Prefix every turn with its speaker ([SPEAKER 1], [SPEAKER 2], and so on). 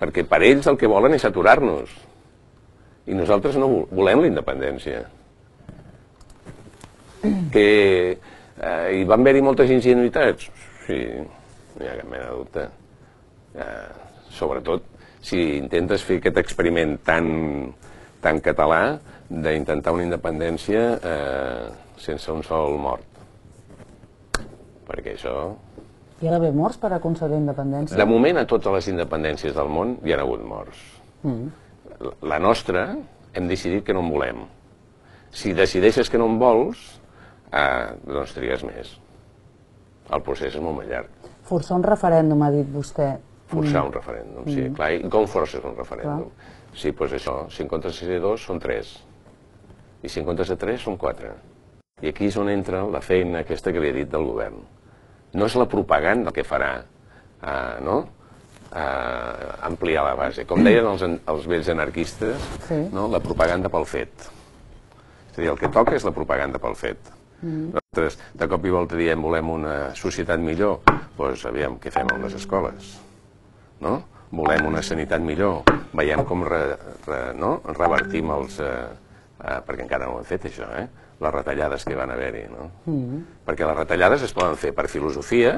[SPEAKER 1] perquè per ells el que volen és aturar-nos. I nosaltres no volem la independència. Que hi van haver-hi moltes ingenuïtats? Sí, no hi ha cap mena de dubte. Sobretot si intentes fer aquest experiment tan català d'intentar una independència sense un sol mort. Perquè això...
[SPEAKER 2] Hi ha d'haver morts per aconseguir independència?
[SPEAKER 1] De moment, a totes les independències del món hi ha hagut morts. La nostra hem decidit que no en volem. Si decideixes que no en vols, doncs trigues més. El procés és molt més llarg.
[SPEAKER 2] Forçar un referèndum, ha dit vostè.
[SPEAKER 1] Forçar un referèndum, sí, clar. I com forces un referèndum? Sí, doncs això, si en comptes de ser 2 són 3. I si en comptes de 3 són 4. I aquí és on entra la feina aquesta que li he dit del govern. No és la propaganda el que farà, no?, ampliar la base. Com deien els vells anarquistes, la propaganda pel fet. És a dir, el que toca és la propaganda pel fet. Nosaltres de cop i volta diem volem una societat millor, doncs aviam què fem amb les escoles. Volem una sanitat millor, veiem com revertim els... perquè encara no ho hem fet això, les retallades que van haver-hi. Perquè les retallades es poden fer per filosofia,